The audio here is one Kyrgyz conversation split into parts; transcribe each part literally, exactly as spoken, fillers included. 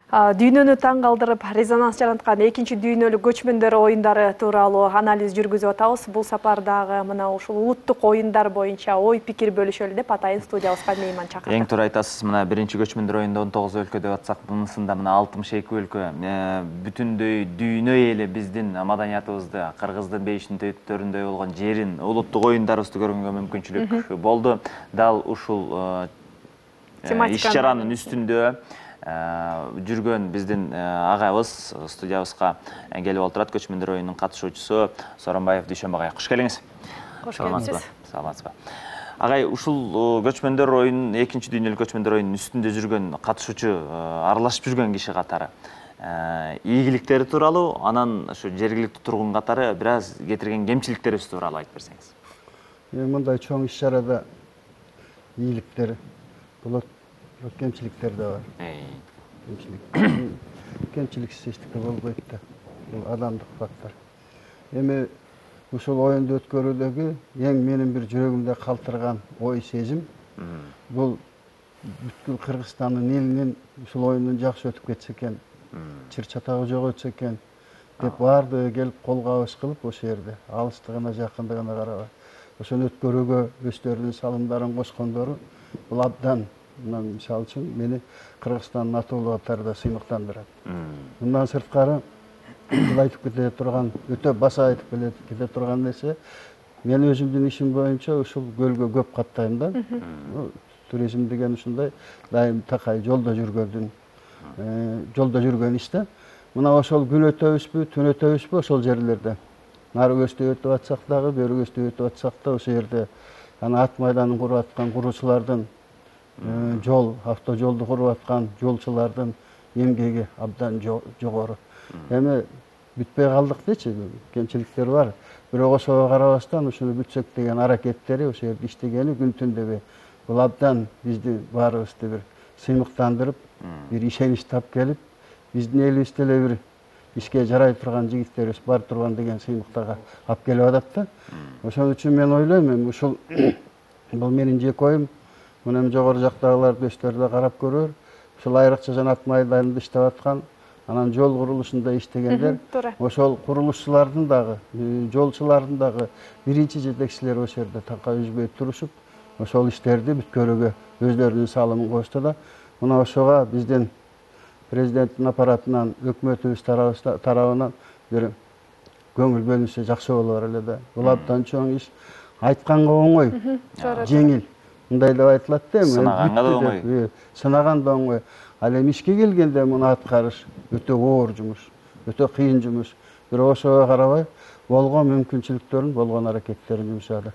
Дүйнөнү таң калтырып, резонанс жараткан экинчи дүйнөлүк көчмөндөр оюндары тууралуу анализ жүргүзүп атабыз. Бул сапардагы мына ушул улуттук оюндар боюнча ой пикир бөлүшөлү деп атайын студиябызга мейман чакырдык. Эң туура айтасыз. Мына биринчи көчмөндөр оюнда он тогуз өлкө деп атсак, мынысында мына алтымыш эки өлкө. Бүтүндөй дүйнө эли биздин маданиятыбызды, кыргыздын бейиштин төбөттөрүндөй болгон жерин, улуттук оюндарыбызды көргөнгө мүмкүнчүлүк болду. Дал ушул иш чаранын үстүндө жүргөн биздин агабыз студиябызга келип отурат. Көчмөндөр оюнунун катышуучусу Сооронбаев Дүйшөнбү агай. Куш келиңиз. Кош келипсиз. Саламатсызбы? Агай, ушул көчмөндөр оюнун, экинчи дүйнөлүк көчмөндөр оюнунун үстүндө жүргөн катышуучу, аралашып жүргөн киши катары ийгиликтери тууралуу, анан ушу жергиликтүү тургун катары бир аз кетирген кемчиликтерибиз тууралуу айтып берсеңиз. Мындай чоң иш чарада ийгиликтер болот, кемчиликтер да бар. Кемчилик. Кемчиликсиз эчтеке болбойт да. Бул адамдык фактор. Эми ушул оюнду өткөрүүдөгү эң менин бир жүрөгүмдө калтырган ой сезим бул бүткүл Кыргызстандын элинин ушул оюндун жакшы өтүп кетсе экен, чыр чатагы жок өтсө экен деп баардыгы келип кол кабыш кылып ошол жерде алыстыгына жакындыгына карабай ошону өткөрүүгө өздөрүнүн салымдарын кошкондору бул абдан, мисалы үчүн мени Кыргызстандын атуулу катарында сыймыктандырат. Мындан сырткары бул айтып кете турган, өтө баса айтып кете турган нерсе, мен өзүмдүн ишим боюнча ушул көлгө көп каттайм да. Туризм деген ушундай дайым такай жолдо жүргөндүн, жолдо жүргөн иш да. Мына ошол күн өтөбүзбү, түн өтөбүзбү ошол жерлерде. Нарыгөстө өтүп атсак дагы, беригөстө өтүп атсак да ошол жерде ана ат майданын куруп аткан куруучулардын жол, автожолду куруп аткан жолчулардын эмгеги абдан жогору. Эми бүтпөй калдык дечи, кемчиликтер бар. Бирок ошого карабастан ушуну бүтсөк деген аракеттери, ошол жерде иштегени күн түн дебей, бул абдан бизди баарыбызды бир сыймыктандырып, бир ишенич тап келип, биздин элибизде эле бир ишке жарай турган жигиттерибиз бар турган деген сыймыктарга алып келип атат да. Ошон үчүн мен ойлойм, эми ушул бул менин жеке оюм. Мына эми жогору жактагылар дөстөр да карап көрөр. Ушул айрыкча жанат майданында иштеп аткан, анан жол курулушунда иштегендер, ошол курулушчулардын дагы, жолчулардын дагы биринчи жетекчилери ошол жерде такай үзбөй турушуп, ошол иштерди бүткөрүүгө өздөрүнүн салымын кошто да. Мына ошого биздин президенттин аппаратынан, өкмөтүбүз тарабынан бир көңүл бөлүнсө жакшы болор эле да. Бул абдан чоң иш. Айтканга оңой, жеңил. Мындай деп айтылат да, эми сынаганга да оңой. Сынаган да оңой. Ал эми ишке келгенде муну аткарыш өтө оор жумуш, өтө кыйын жумуш. Бирок ошого карабай болгон мүмкүнчүлүктөрүн, болгон аракеттерин жумшады.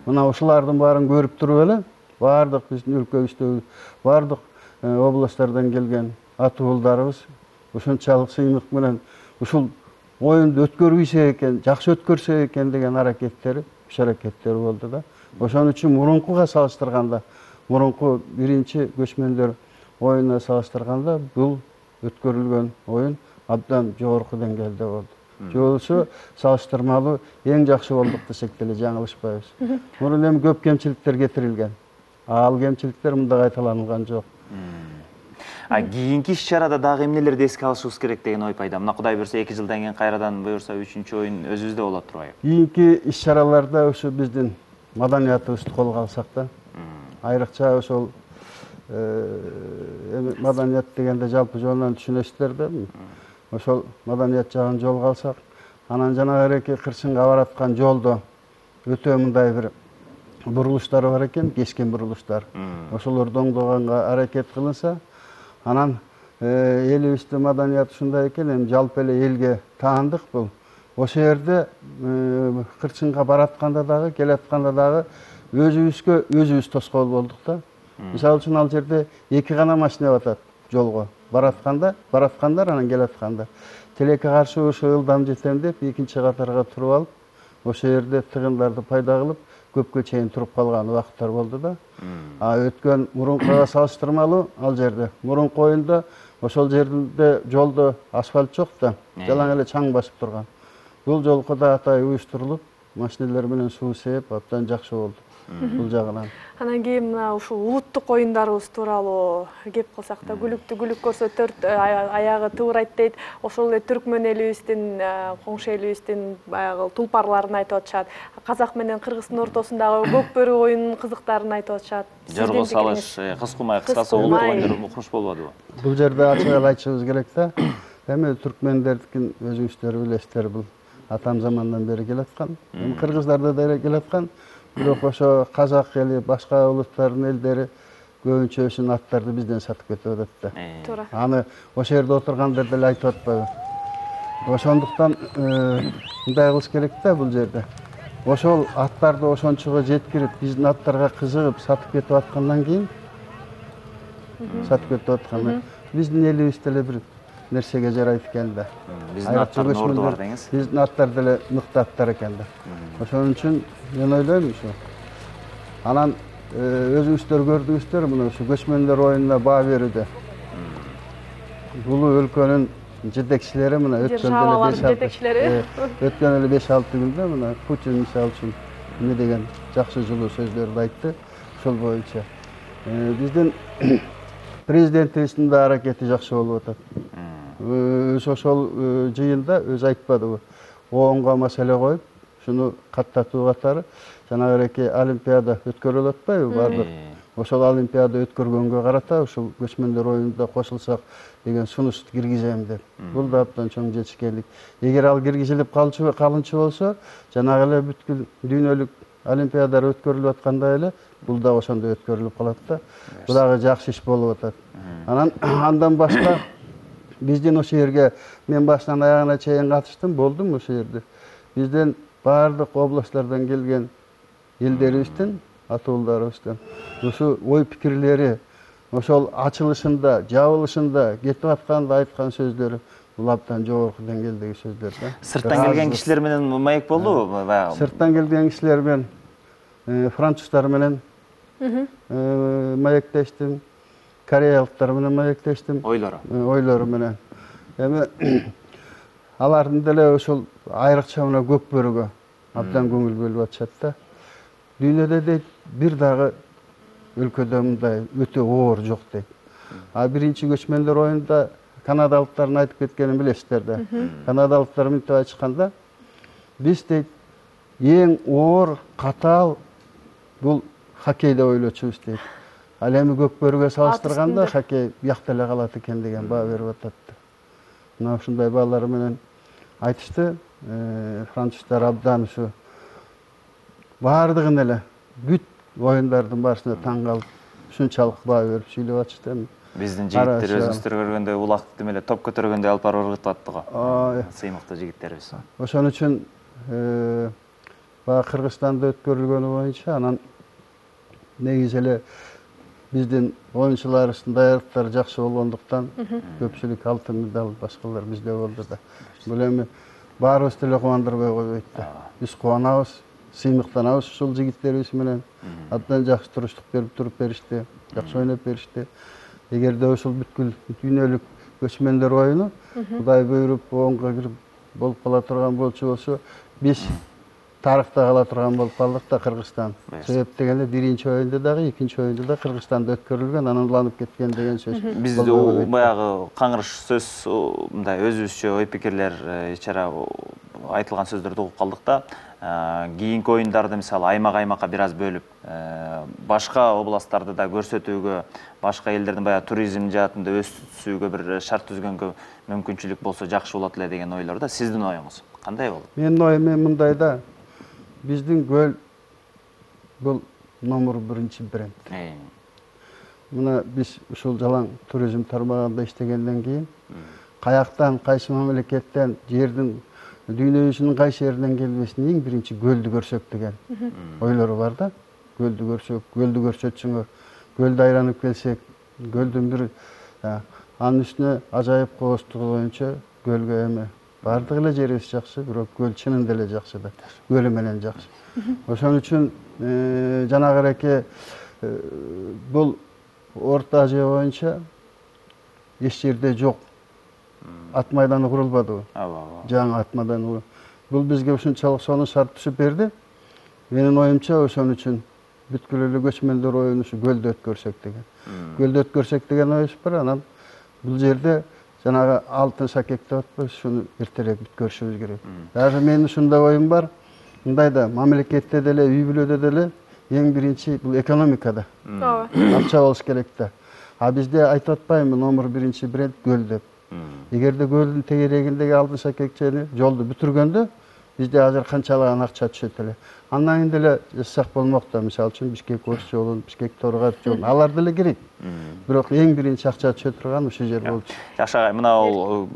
Мына ушулардын баарын көрүп туруп эле, баардык биздин өлкөбүздөгү баардык областтардан келген атуулдарыбыз ушунчалык сыймык менен ушул оюнду өткөрбөйсө экен, жакшы өткөрсө экен деген аракеттери, иш аракеттери болду да. Ошон үчүн мурункуга салыштырганда, мурунку биринчи көчмөндөр оюнуна салыштырганда бул өткөрүлгөн оюн абдан жогорку деңгээлде болду. Жолусу салыштырмалуу эң жакшы болдук десек деле жаңылышпайбыз. Мурун эми көп кемчиликтер кетирилген. Ал кемчиликтер мында кайталанган жок. А кийинки иш чарада дагы эмнелерди эске алышыбыз керек деген ой пайда. Мына Кудай буйрса эки жылдан кийин кайрадан буйрса үчүнчү оюн өзүбүздө болот турбайбы? Кийинки иш чараларда ушу биздин маданиятыбызды колго алсак да, айрыкча ошол эми маданият дегенде жалпы жонунан түшүнөсүздөр да. Ошол маданият жагын жолго алсак, анан жанагы эки кырсынга бараткан жолдо өтө мындай бир бурулуштар бар экен, кескен бурулуштар. Ошолорду оңдоганга аракет кылынса, анан элибиздин маданият ушундай экен, эми жалпы эле элге таандык бул. Ошол жерде кырсынга баратканда дагы, келатканда дагы өзүбүзгө өзүбүз тоскоол болдук да. Мисалы үчүн ал жерде эки гана машина батат жолго. Баратканда, бараткандар анан келатканда. Тилекке каршы ошо ылдам жетем деп экинчи катарга туруп алып, ошол жерде тыгындарды пайда кылып, көпкө чейин туруп калган убакыттар болду да. А өткөн мурункуга салыштырмалуу ал жерде мурунку оюнда ошол жерде жолдо асфальт жок да, жалаң эле чаң басып турган. Бул жолку да атай уюштурулуп, машиналар менен суу сээп, абдан жакшы болду. бул жагынан. Анан кийин мына ушул улуттук оюндарыбыз тууралуу кеп калсак да, гүлүктү гүлүк көрсө төрт аягы тыбырайт дейт. Ошол эле түркмөн элибиздин, коңшу элибиздин баягы тулпарларын айтып атышат. Казак менен кыргыздын ортосундагы көк бөрү оюнунун кызыктарын айтып атышат. Жорго салыш, кыз кумай, кыскасы улуттук оюндар мукмуш болбодубу? Бул жерде ачык эле айтышыбыз керек да. Эми түркмендердикин өзүңүздөр билесиздер, бул атам замандан бери келаткан. Кыргыздарда да келаткан. Бирок ошо казак эли, башка улуттардын элдери көбүнчөсүнүн аттарды бизден сатып кетип атат да. Туура. Аны ошол жерде отургандар деле айтып атпайбы? Ошондуктан мындай кылыш керек да бул жерде. Ошол аттарды ошончого жеткирип, биздин аттарга кызыгып сатып кетип аткандан кийин, сатып кетип атканда биздин элибиз деле бир нерсеге жарайт экен да. Биздин аттардын орду бар деңиз. Биздин аттар деле мыкты аттар экен да. Ошон үчүн мен ойлойм ушу. Анан өзүңүздөр көрдүңүздөр мына ушу көчмөндөр оюнуна баа берүүдө. Бул өлкөнүн жетекчилери мына өткөн эле беш жетекчилери. Өткөн эле беш алты күндө мына Путин мисалы үчүн эмне деген жакшы жылуу сөздөрдү айтты. Ошол боюнча биздин президентибиздин да аракети жакшы болуп атат. Өз ошол жыйында өзү айтпадыбы? Оонго маселе коюп, шуну каттатуу катары жанагы эки олимпиада өткөрүлүп атпайбы бардык? Ошол олимпиада өткөргөнгө карата ушул көчмөндөр оюнунда кошулсак деген сунуш киргизем деп. Бул да абдан чоң жетишкендик. Эгер ал киргизилип калчу калынчу болсо, жанагы эле бүткүл дүйнөлүк олимпиадалар өткөрүлүп аткандай эле бул да ошондой өткөрүлүп калат да. Бул дагы жакшы иш болуп атат. Анан андан башка биздин ошол жерге мен башынан аягына чейин катыштым, болдум ошол жерде. Бизден баардык областтардан келген элдерибиздин, атуулдарыбыздын ушу ой пикирлери, ошол ачылышында, жабылышында кетип атканда айткан сөздөрү бул абдан жогорку деңгээлдеги сөздөр да. Сырттан келген кишилер менен маек болдубу? Сырттан келген кишилер менен, француздар менен маектештим, кореялыктар менен маектештим. Ойлору. Ойлору менен. Эми алардын деле ошол айрыкча мына көк бөрүгө абдан көңүл бөлүп атышат да. Дүйнөдө дейт бир дагы өлкөдө мындай өтө оор жок дейт. А биринчи көчмөндөр оюнунда канадалыктардын айтып кеткенин билесиздер да. Канадалыктар мынтип айтышканда, биз дейт эң оор, катаал бул хоккей деп ойлочубуз дейт. Ал эми көк бөрүгө салыштырганда хоккей биякта эле калат экен деген баа берип атат. Мына ушундай баалар менен айтышты. Француздар абдан ушу баардыгын эле бүт оюндардын баарысына таң калып, ушунчалык баа берип сүйлөп атышты. Биздин жигиттер өзүңүздөр көргөндөй улак демеле топ көтөргөндөй алып барып ыргытып атты го. Сыймыктуу жигиттерибиз. Ошон үчүн баягы Кыргызстанда өткөрүлгөнү боюнча анан негизи эле биздин оюнчуларыбыздын даярдыктары жакшы болгондуктан көпчүлүк алтын медаль башкалар бизде болду да. Бул эми баарыбыз деле кубандырбай койбойт да. Биз кубанабыз, сыймыктанабыз ушул жигиттерибиз менен. Абдан жакшы туруштук берип туруп беришти, жакшы ойноп беришти. Эгерде ушул бүткүл дүйнөлүк көчмөндөр оюну Кудай буйруп оонго кирип болуп кала турган болчу болсо, биз тарыхта кала турган болуп калдык да Кыргызстан. Себеп дегенде биринчи оюнда дагы, экинчи оюнда да Кыргызстанда өткөрүлгөн, анан уланып кеткен деген сөз. Бизде баягы каңырыш сөз, мындай өзүбүзчө ой пикирлер, ичара айтылган сөздөрдү угуп калдык да. Кийинки оюндарды мисалы аймак-аймакка бир аз бөлүп, башка областтарды да көрсөтүүгө, башка элдердин баягы туризм жаатында өсүүгө бир шарт түзгөнгө мүмкүнчүлүк болсо жакшы болот эле деген ойлор да. Сиздин оюңуз кандай болот? Менин оюм мындай да. Биздин көл бул номер биринчи бренд. Мына биз ушул жалаң туризм тармагында иштегенден кийин каяктан, кайсы мамлекеттен, жердин дүйнө жүзүнүн кайсы жеринен келбесин эң биринчи көлдү көрсөк деген ойлору бар да. Көлдү көрсөк, көлдү көрсөтсүңөр, көлдү айланып келсек, көлдүн бир анын үстүнө ажайып кооздугу боюнча көлгө эми бардык эле жерибиз жакшы, бирок көл чынында эле жакшы да. Көлү менен жакшы. Ошон үчүн жанагы эки бул Орто Азия боюнча эч жерде жок. Ат майданы курулбадыбы? Жаңы ат майданы. Бул бизге ушунчалык сонун шарт түшүп берди. Менин оюмча ошон үчүн бүткүл эле көчмөндөр оюну ушу көлдө өткөрсөк деген. Көлдө өткөрсөк деген оюбуз бар. Анан бул жерде жанагы алтын шакек деп атпайбыз, шуну эртерээк бүткөрүшүбүз керек. Даже менин ушундай оюм бар. Мындай да мамлекетте деле, үй бүлөдө деле эң биринчи бул экономикада. ооба Акча болуш керек да. А бизде айтып атпаймынбы номер биринчи бренд көл деп. Эгерде көлдүн тегерегиндеги алтын шакекчени жолду бүтүргөндө бизде азыр канчалаган акча түшөт эле. Андан кийин деле жасасак болмок да. Мисалы үчүн Бишкек-Ош жолун, Бишкек-Торгат жолун, алар деле керек. Бирок эң биринчи акча түшө турган ушул жер болчу. Жакшы агай, мына ал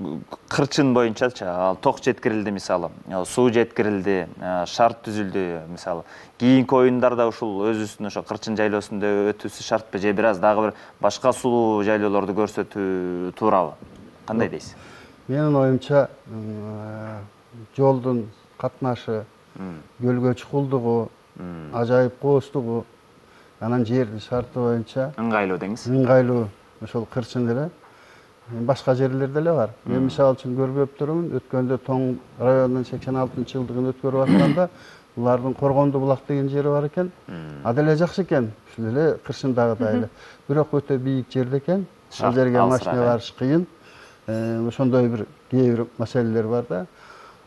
кырчын боюнчачы, ал ток жеткирилди мисалы, суу жеткирилди, шарт түзүлдү мисалы. Кийинки оюндарда ушул өзүбүздүн ошо кырчын жайлоосунда өтүүсү шартпы же бир аз дагы бир башка сулуу жайлоолорду көрсөтүү туурабы? Кандай дейсиз? Менин оюмча жолдун катнашы, көлгө чукулдугу, ажайып кооздугу, анан жердин шарты боюнча Ыңгайлуу деңиз. ыңгайлуу ошол кырчын деле. Башка жерлерде деле бар. Мен мисалы үчүн көрүп турмун, өткөндө Тоң районунун сексен алтынчы жылдыгын өткөрүп атканда булардын Коргонду булак деген жери бар экен. А деле жакшы экен, ушул эле кырчындагыдай эле. Бирок өтө бийик жерде экен. Ал жерге машина барыш кыйын. Ошондой бир кээ бир маселелер бар да.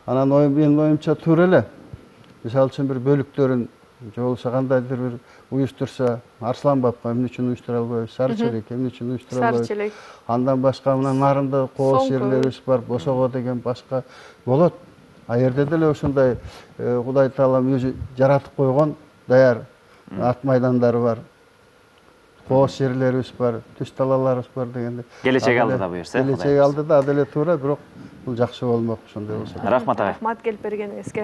Анан оюм менин оюмча туура эле. Мисалы үчүн бир бөлүктөрүн же болбосо кандайдыр бир уюштурса, Арслан бабка эмне үчүн уюштура албайбыз? Сары челек эмне үчүн уюштура албайбыз? Сары челек. Андан башка мына нарында кооз жерлерибиз бар, Босого деген башка болот. А жерде деле ушундай Кудай Таалам өзү жаратып койгон даяр ат майдандары бар. Кооз жерлерибиз бар, түз талаларыбыз бар дегенде. Келечек алдыда буюрса. Келечек алдыда, деле туура, бирок бул жакшы болмок ошондой болсо. Рахмат агай. Рахмат келип бергениңизге.